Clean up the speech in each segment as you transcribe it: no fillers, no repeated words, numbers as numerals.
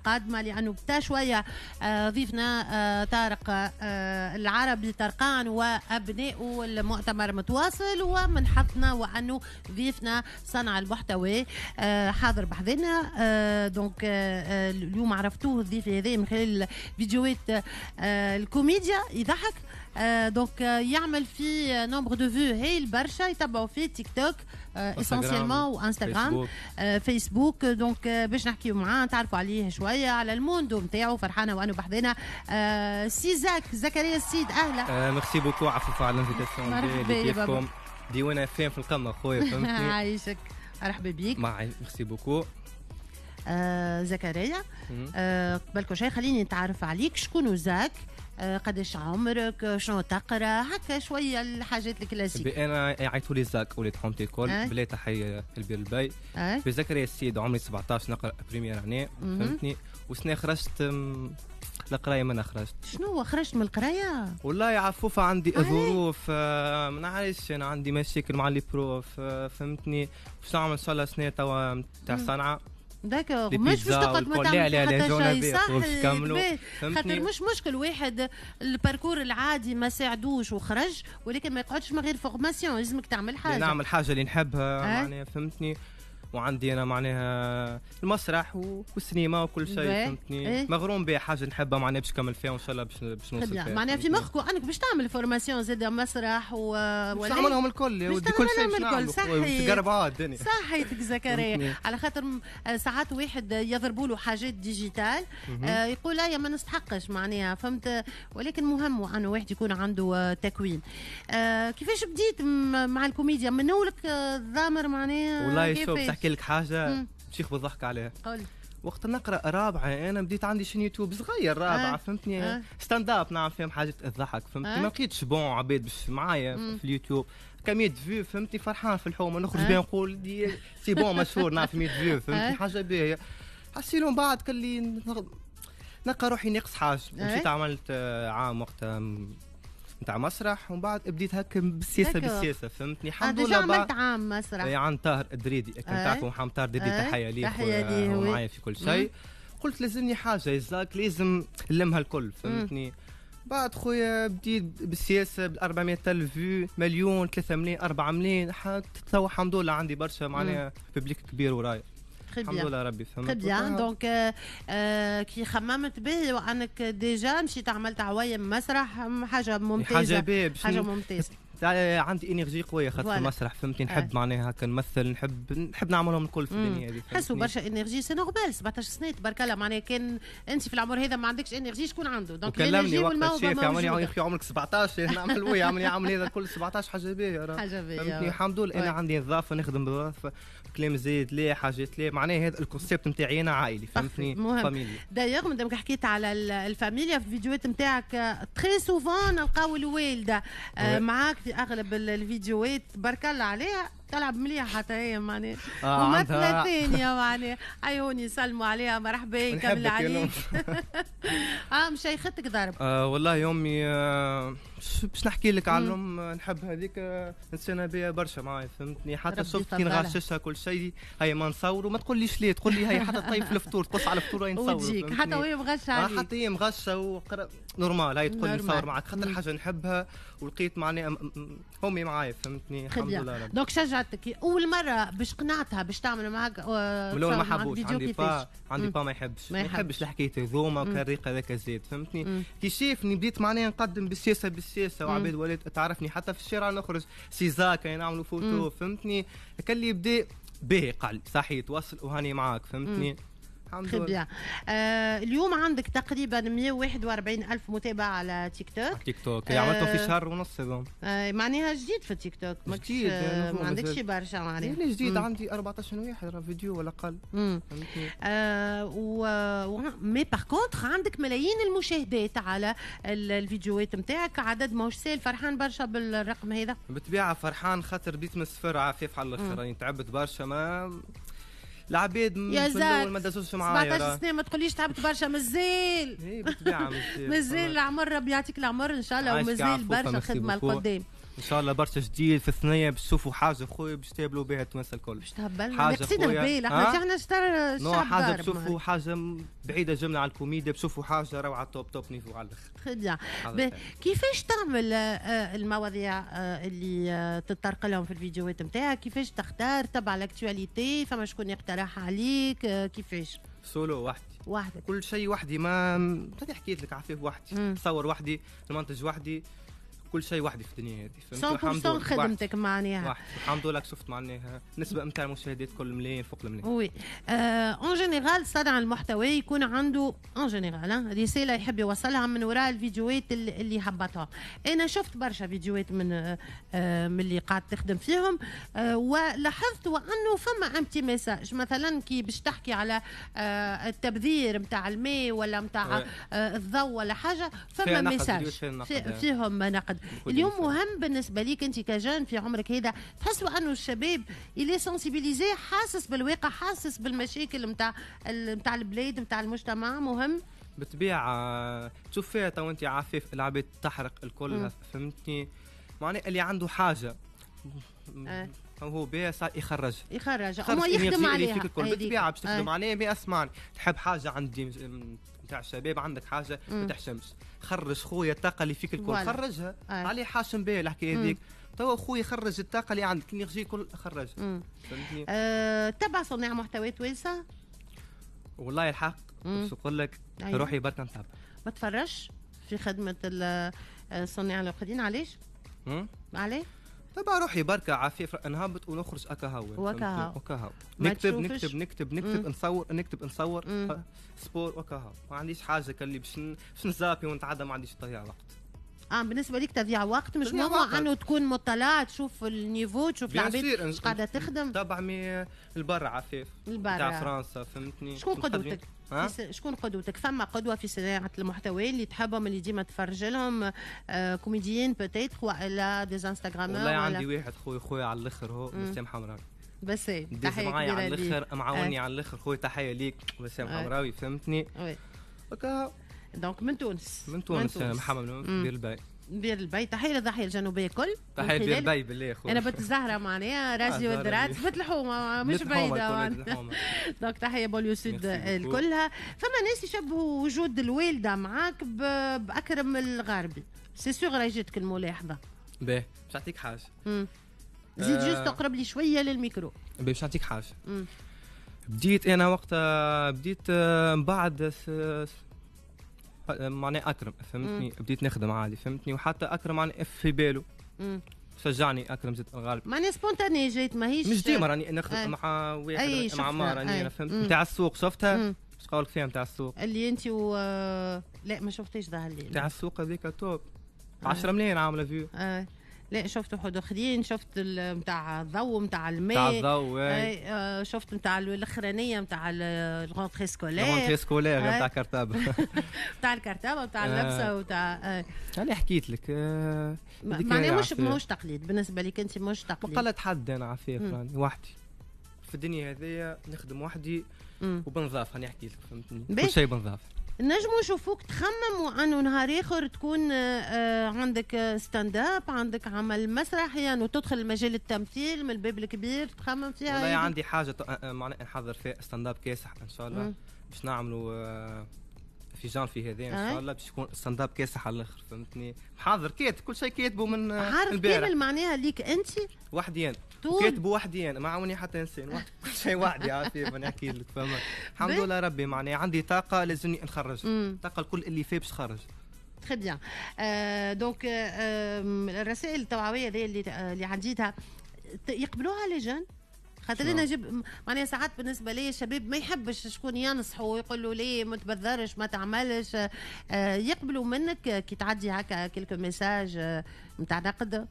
القادمة، لانه بتا شوية ضيفنا طارق العربي طرقان وابنائه المؤتمر متواصل، ومن حظنا وانه ضيفنا صنع المحتوى حاضر بحذنا. donc اليوم عرفتوه الضيف هذا من خلال فيديوهات الكوميديا، يضحك، donc يعمل في nombre de vues هايل برشا، يتبعوا فيه تيك توك essentiellement وانستغرام فيسبوك. donc باش نحكيو معاه، تعرفوا عليه شويه، على ال monde نتاعو. فرحانة وانه بحذنا سي زاك، زكريا السيد، اهلا. merci beaucoup عفوفة على l'invitation. مرحبا. كيفكم؟ ديوانة فين في القمه خويا، فهمتني؟ عايشك، مرحبا بيك. مع merci beaucoup. زكريا، قبل كل شيء خليني نتعرف عليك. شكون زاك؟ قداش عمرك؟ شنو تقرا؟ هكا شوية الحاجات الكلاسيك. انا يعيطوا لي زاك، وليد حومتي الكل. بلا تحية البير البي بزكريا السيد، عمري 17، نقرا première année، فهمتني؟ وسنة خرجت القرايه، ما خرجت. شنو خرجت من القرايه؟ والله يا عفوفه عندي ظروف، ما نعرفش، انا عندي مشاكل مع les profs، فهمتني؟ باش نعمل ان شاء الله سنة توا تاع صنعه. d'accord، مش باش تقعد ما تعمل حتى شيء، صح؟ خاطر مش مشكل واحد ال parcours العادي ما ساعدوش وخرج، ولكن ما يقعدش من غير formation، لازمك تعمل حاجه. نعمل حاجة اللي نحبها معناها، فهمتني؟ وعندي انا معناها المسرح والسينما وكل شيء، فهمتني؟ مغروم بها، حاجة نحبها معناها باش نكمل فيها وان شاء الله باش نوصل فيها. معناها في مخك انك باش تعمل formation زاد مسرح و باش نعملهم الكل يا ودي، كل شيء الكل، صحيح. تقربوا الدنيا. صحيتك زكريا، على خاطر ساعات واحد يضربوا له حاجات digital يقول لا يا ما نستحقش معناها، فهمت؟ ولكن مهم انه واحد يكون عنده تكوين. كيفاش بديت مع الكوميديا؟ من اولك ضامر معناها؟ والله شوف، نحكي لك حاجة شيخ بالضحك عليها. قول. وقت نقرا رابعه انا بديت عندي chaîne يوتيوب صغير، رابعه، فهمتني؟ Stand-up نعمل فيهم حاجة تضحك، فهمتني؟ ما لقيتش bon عباد باش معايا في اليوتيوب، كان 100 vues، فهمتني؟ فرحان في الحومه نخرج بها نقول دي c'est bon مشهور، نعرف 100 vues، فهمتني؟ حاجة باهيه. حسيلو من بعد كان لي نلقى روحي ناقص حاجه، مشيت عملت عام وقتها نتاع مسرح، ومن بعد بديت هكا بالسياسة بالسياسه، فهمتني؟ الحمد لله عملت عام مسرح. عند طاهر الدريدي، كان تعرفوا محمد طاهر الدريدي، تحية ليه. تحية ليه. معايا في كل شيء. قلت لازمني حاجة زاك، لازم نلمها الكل، فهمتني؟ بعد خويا بديت بالسياسة ب 400 الف vues، مليون، 3 ملايين، 4 ملايين، توا الحمد لله عندي برشا معناها public كبير ورايا، الحمد لله ربي، فهمت؟ très bien. donc كي خممت به وانك déjà مشيت عملت عوايم مسرح، حاجة ممتازه. حاجة باهيه. حاجة ممتازه. عندي énergie قوية خاطر في المسرح، فهمتني؟ نحب معناها هكا نمثل، نحب نعملهم الكل في الدنيا هذه. حسوا برشا énergie، c'est normal، 17 سنة تبارك الله، معناها كان انت في العمر هذا ما عندكش énergie شكون عنده؟ donc كلمني وقت الشيف يعمل يا اخي عمرك 17، نعمل oui يعمل يعمل هذا الكل 17، حاجة باهيه. حاجة باهيه. فهمتني؟ الحمد لله انا عندي نظافه، نخدم بالنظافه، كلام زايد لا، حاجات لا، معناها هذا ال concept نتاعي انا عائلي، فهمتني؟ famille. d'ailleurs مادامك حكيت على الفاميليا، في الفيديوهات نتاعك très souvent نلقاو الوالدة معاك في اغلب الفيديوهات، تبارك الله عليها، تلعب مليح حتى هي معناها، ممثلة ثانية معناها. عيوني يسلموا عليها، مرحبا، كمل عليك. مشيختك ضرب. والله امي، باش نحكي لك على الام، نحب هذيك، انسانه بيا برشا معايا، فهمتني؟ حتى شفت كي نغششها كل شيء، هي ما نصوروا ما تقوليش ليه، تقول لي هي حتى طيب في الفطور، تقص على الفطور هي نصور. وتجيك حتى وهي مغشه عليك. حتى هي مغشه normal هي تقول لي نصور معك، خاطر حاجة نحبها ولقيت معناها امي معايا، فهمتني؟ الحمد لله. donc شجعتك اول مرة باش قنعتها باش تعمل معك؟ من الاول ما حبوش. عندي با، عندي با ما يحبش، ما يحبش الحكاية هذوما وكالريق هذاك زيد، فهمتني؟ كي شافني بديت معناها نقدم بالسياسة بالسياسه، وعباد ولات تعرفني، حتى في الشارع نخرج سي زاك نعملوا فوتو، فهمتني؟ كان اللي بدا باهي قال صحيح توصل وهاني معاك، فهمتني؟ الحمد لله. اليوم عندك تقريبا 141 ألف متابع على تيك توك. تيك توك عملته في شهر ونص هذا. معناها جديد في التيك توك. جديد. ما عندكش برشا معناها. جديد، عندي 14 واحد فيديو ولا اقل. و mais par contre عندك ملايين المشاهدات على الفيديوهات نتاعك، عدد ماهوش سهل. فرحان برشا بالرقم هذا؟ بالطبيعة فرحان، خاطر بديت من الصفر عفيف على الاخر، راني تعبت برشا، ما العباد يا زاد ما دازوش معايا. 17 سنه، ما تقوليش تعبت برشا، مازال. اي بالطبيعة مازال. مازال العمر، ربي يعطيك العمر ان شاء الله، ومازال برشا خدمة القدام. ان شاء الله برشا جديد في الثنية، باش تشوفوا حاجة خويا باش تقابلوا بها التوانسة الكل. باش تهبلنا ناقصين هبال احنا، احنا الشعب حاجة تشوفوا حاجة بعيدة جملة على الكوميديا، بتشوفوا حاجة روعه top top niveau على الاخر. très bien. كيفاش تعمل المواضيع اللي تتطرق لهم في الفيديوهات نتاعك؟ كيفاش تختار؟ تبع l'actualité؟ فما شكون يقترح عليك؟ كيفاش؟ سولو وحدي وحدك، كل شيء وحدي. ما حكيت لك عفيف وحدي، نصور وحدي، نمنتج وحدي، كل شيء وحدي في الدنيا هذه. 100% خدمتك معناها وحدي. الحمد لله شفت معناها نسبه نتاع المشاهدات كل ملايين فوق الملايين. oui en général صانع المحتوى يكون عنده en général رسالة يحب يوصلها من وراء الفيديوهات اللي هبطها. انا شفت برشا فيديوهات من اللي قاعد تخدم فيهم، ولاحظت وانه فما un petit message، مثلا كي باش تحكي على التبذير نتاع الماء ولا نتاع الضوء ولا حاجة، فما message فيهم نقد. اليوم مهم بالنسبة ليك انت ك jeune في عمرك هذا، تحسوا انه الشباب il est sensibilisé، حاسس بالواقع، حاسس بالمشاكل نتاع البلاد نتاع المجتمع؟ مهم بالطبيعة. تشوف فيها تو انت عفيف العباد تحرق الكل، فهمتني؟ معناها اللي عنده حاجة هو بها صار يخرج يخرج هو يخدم عليها بالطبيعة باش تخدم عليها. mais اسمعني، تحب حاجة عندي نتاع الشباب، عندك حاجة ما تحشمش، خرج خويا الطاقة اللي فيك الكل، خرجها. علي حاشم بها الحكاية هذيك. توا خويا خرج الطاقة اللي عندك، l'énergie الكل خرج. فهمتني؟ تبع صناع محتوى توانسة؟ والله الحق باش نقول لك روحي برك نتابع. ما تفرجش في خدمة الصناع الاخرين؟ علاش؟ علاش؟ تبع روحي بركة عفيف، نهبط ونخرج اكا هو وكا هو. نكتب نكتب نكتب نكتب نصور نكتب نصور sport وكا هو. ما عنديش حاجة كاللي باش نزابي ونتعدى، ما عنديش تضيع وقت. بالنسبة ليك تضيع وقت مش مهم انه تكون مطلع، تشوف ال niveau، تشوف العباد اش قاعدة تخدم. تبع mais البر عفيف البر تاع فرنسا، فهمتني؟ شكون قدوتك؟ شكون قدوتك؟ فما قدوة في صناعة المحتوى اللي تحبهم، اللي ديما تفرج لهم، كوميديين peut-être والا des instagrameurs؟ والله عندي واحد خويا على الاخر، هو بسام حمراوي. بس تحية معايا على الاخر، معاوني على الاخر خويا، تحية ليك بسام حمراوي، فهمتني؟ oui donc من تونس. من تونس محمد من بير الباي. بير البي، تحية للضاحيه الجنوبية كل، تحية بير البي بالله خويا. انا بنت الزهرة معناها راسي والدرات بنت الحومه مش بعيدة، donc تحية banlieue sud الكلها. فما ناس يشبهوا وجود الوالدة معاك باكرم الغربي، c'est sûr راهي جاتك الملاحظة. باهي باش نعطيك حاجة. زيد juste تقرب لي شوية للميكرو. باهي باش نعطيك حاجة. بديت انا وقتها، بديت من بعد معناها اكرم، فهمتني؟ بديت نخدم عادي، فهمتني؟ وحتى اكرم معناها في باله شجعني اكرم زيد الغالب، معناها spontané جيت، ماهيش مش ديما راني نخدم مع واحد مع عمار راني، فهمت؟ نتاع السوق شفتها؟ اش قولك فيها نتاع السوق اللي انت و لا ما شفتيش ظهر لي نتاع السوق هذيك top 10 ملايين عامله vues. لا شفت واحد اخرين، شفت نتاع الضوء نتاع الماء نتاع الضوء، شفت نتاع الاخرانية نتاع ال rentrée scolaire، ال rentrée scolaire نتاع كرتابه، نتاع الكرتابه نتاع اللبسه وتاع انا حكيت لك. معناها مش تقليد بالنسبة لك انت، مش تقليد. ما قلت حد انا عفيف، راني وحدي في الدنيا هذيا، نخدم وحدي وبنظاف، انا حكيت لك فهمتني؟ كل شيء بنظاف. نجمو نشوفوك تخمم وانه نهار اخر تكون عندك stand-up، عندك عمل مسرحي، يعني وتدخل مجال التمثيل من الباب الكبير، تخمم فيها؟ والله عندي حاجة معناها نحضر فيها stand-up كاسح ان شاء الله، باش نعملوا في جانفي هذا ان شاء الله، باش يكون stand-up كاسح على الاخر، فهمتني؟ محاضر كاتب كل شيء، كاتبه من عارف كامل معناها ليك انت وحدي انا، كاتبه وحدي انا، ما عاوني حتى انسان، وحدي كل شيء وحدي عارف نحكي لك، فهمت؟ الحمد لله ربي معناها عندي طاقة لازمني نخرج الطاقة الكل اللي فيه باش نخرج. très bien. donc الرسائل التوعوية اللي عديتها يقبلوها les jeunes؟ خاطر انا جب معناها ساعات بالنسبة لي الشباب ما يحبش شكون ينصحه ويقول له ليه ما تبذرش ما تعملش، يقبلوا منك كي تعدي هكا quelques messages نتاع نقد؟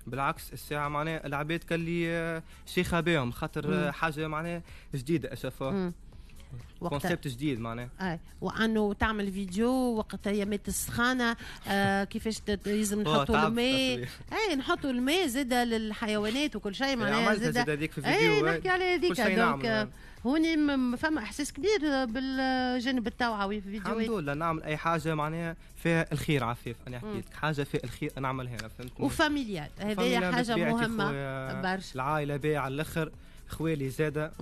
بالعكس الساعة معناها العباد كان لي شيخه بهم، خاطر حاجة معناها جديدة شافوها. concept جديد معناها. وانه تعمل فيديو وقت ايامات السخانه، كيفاش لازم نحطوا الماء، اي نحطوا الماء زاده للحيوانات وكل شيء معناها زاد هذيك في الفيديو. اي نحكي على هذيك. donc هوني فما احساس كبير بالجانب التوعوي في الفيديوهات. الحمد لله نعمل اي حاجة معناها فيها الخير عفيف، انا حكيت لك حاجة فيها الخير نعملها انا، فهمتني. و familial هذه حاجة مهمة برشا. العائلة باهيه على الاخر، خوالي زاده،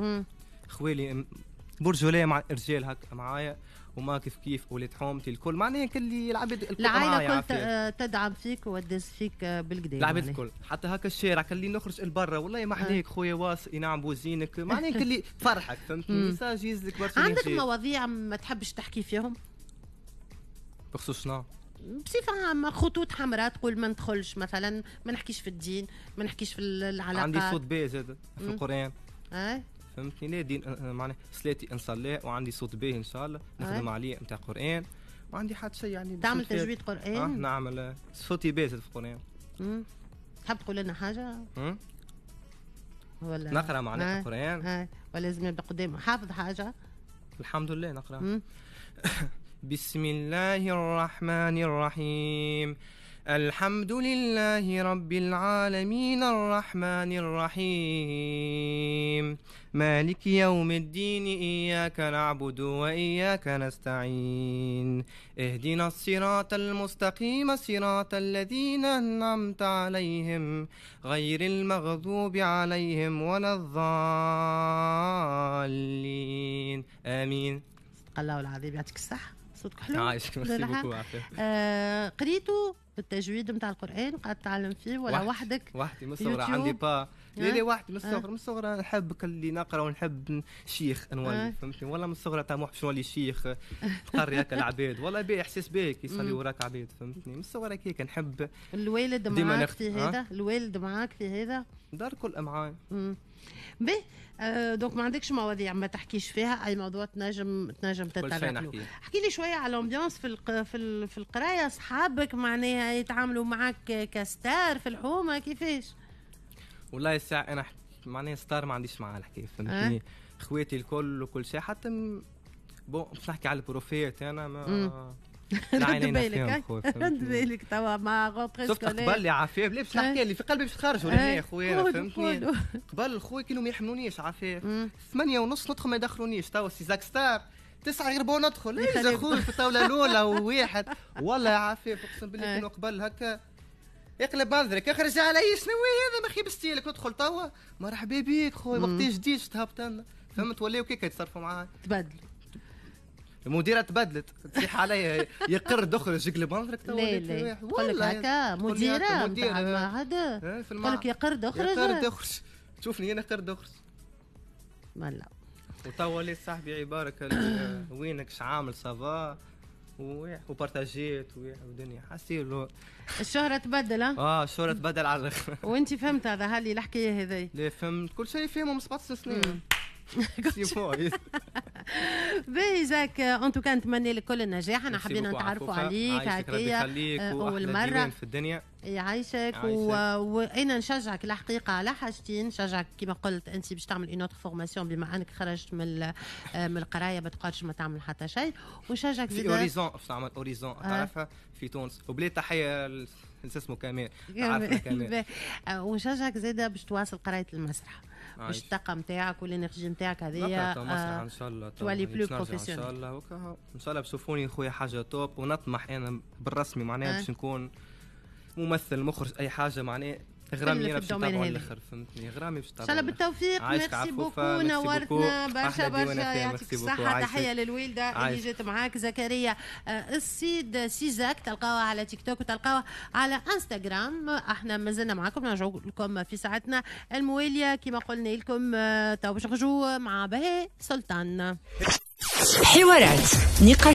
خوالي برجولية مع الرجال هكا معايا، وما كيف كيف ولاد حومتي الكل معناها كل العباد الكل، العائلة الكل تدعم فيك وتدز فيك بالقدا العباد الكل، حتى هكا الشارع كان اللي نخرج البرا والله ما حداك خويا واصل ينعم بوزينك معناها كل اللي تفرحك، فهمتني. message يزلك برشا. عندك مواضيع ما تحبش تحكي فيهم؟ بخصوص شنو؟ بصفة عامة خطوط حمراء تقول ما ندخلش مثلا، ما نحكيش في الدين، ما نحكيش في العلاقات. عندي صوت باهي زاد في القرآن. فهمتني. لا دين معناها صلاتي نصلي وعندي صوت باهي ان شاء الله نخدم عليه نتاع قرآن، وعندي حتى شيء يعني. تعمل تجويد قرآن؟ نعمل صوتي باهي في القرآن. تحب تقول لنا حاجة؟ ولا نقرا معناها القرآن؟ ولا لازم يبدا قدام حافظ حاجة؟ الحمد لله نقرا. بسم الله الرحمن الرحيم، الحمد لله رب العالمين الرحمن الرحيم، مالك يوم الدين، إياك نعبد وإياك نستعين، اهدنا الصراط المستقيم، صراط الذين أنعمت عليهم غير المغضوب عليهم ولا الضالين، آمين. صدق الله العظيم، يعطيك الصحة، صوتك حلو. عايشك، merci beaucoup. قريتو التجويد نتاع القرآن قاعد تتعلم فيه ولا وحدك؟ وحدي من الصغر عندي با لا وحدي من الصغر، من الصغر نحب اللي نقرا ونحب شيخ نولي، فهمتني. والله من الصغر طموح باش نولي شيخ تقري هكا العباد، والله باهي احساس باهي كي يصلي وراك عباد، فهمتني. من الصغر هكاك نحب. الوالد معاك في هذا؟ الوالد معاك في هذا؟ دار كل معايا. باهي. donc ما عندكش مواضيع ما تحكيش فيها، اي موضوع تنجم تتطرق له. احكي لي شوية على l'ambiance في القراية، اصحابك معناها يتعاملوا معاك ك star في الحومه كيفاش؟ والله الساعة انا معناها star ما عنديش معاه الحكاية، فهمتني. خواتي الكل وكل شيء، حتى bon باش نحكي على ال profs انا ما رد بالك، رد بالك توا مع rentrée scolaire. قبل يا عفاف، لا باش نحكي اللي في قلبي باش تخرجوا لهنا خويا، فهمتني. قبل خويا كانوا ما يحملونيش عفاف، 8:30 ندخل ما يدخلونيش. توا سي زاك ستار 8:45 ندخل، يا خويا في الطاولة الاولى وواحد. والله يا عفاف اقسم بالله كانوا قبل هكا اقلب منظرك، اخرج علي شنو هذا ما خيب style ك، ندخل توا مرحبا بيك خويا وقت جديد تهبط لنا، فهمت. ولاو كيكا يتصرفوا معايا، تبدلوا. المديرة تبدلت تصيح عليا يا قرد اخرج اقلب منظرك. لا لا تقول لك هكا مديره نتاع المعهد تقول لك يا قرد اخرج، يا قرد اخرج، تشوفني انا قرد اخرج. لا وتوا وليت صاحبي عبارك وينك شعامل ça va وبارتاجيت ودنيا حسيلو. الشهرة تبدل. الشهرة تبدل على الاخر. وانت فهمت هذا هالي الحكاية هذي؟ لا فهمت كل شيء، فهمه من 17 سنين. باهي زاك، en tout cas نتمنى لك كل النجاح. انا حبينا نتعرفوا عليك هكايا اول مرة في الدنيا. يعيشك. وانا نشجعك الحقيقة على حاجتين، نشجعك كما قلت انت باش تعمل une autre formation بما انك خرجت من القراية ما تقعدش ما تعمل حتى شيء، ونشجعك في Horizon باش تعمل Horizon تعرفها في تونس، وبلي تحية اسمه كمال، تعرفها كمال. ونشجعك زاده باش تواصل قرايه المسرح، باش الطاقة نتاعك وال énergie نتاعك هذيا ان شاء الله تولي plus professionnel ان شاء الله. ان شاء الله بشوفوني خويا حاجة top، ونطمح انا بالرسمي معناها باش نكون ممثل مخرج اي حاجة معناها غرامي انا باش نتابعوا الاخر، فهمتني. غرامي باش نتابعوا. ان شاء الله بالتوفيق. merci beaucoup، نورتنا برشا برشا، يعطيك الصحة. تحية للوالده اللي جات معاك زكريا السيد سيزاك، تلقاوها على تيك توك وتلقاوها على انستغرام. احنا مازلنا معاكم، نرجعوا لكم في ساعتنا الموالية كما قلنا لكم. تو باش نخرجوا مع بهاء سلطان. حوارات، نقاش.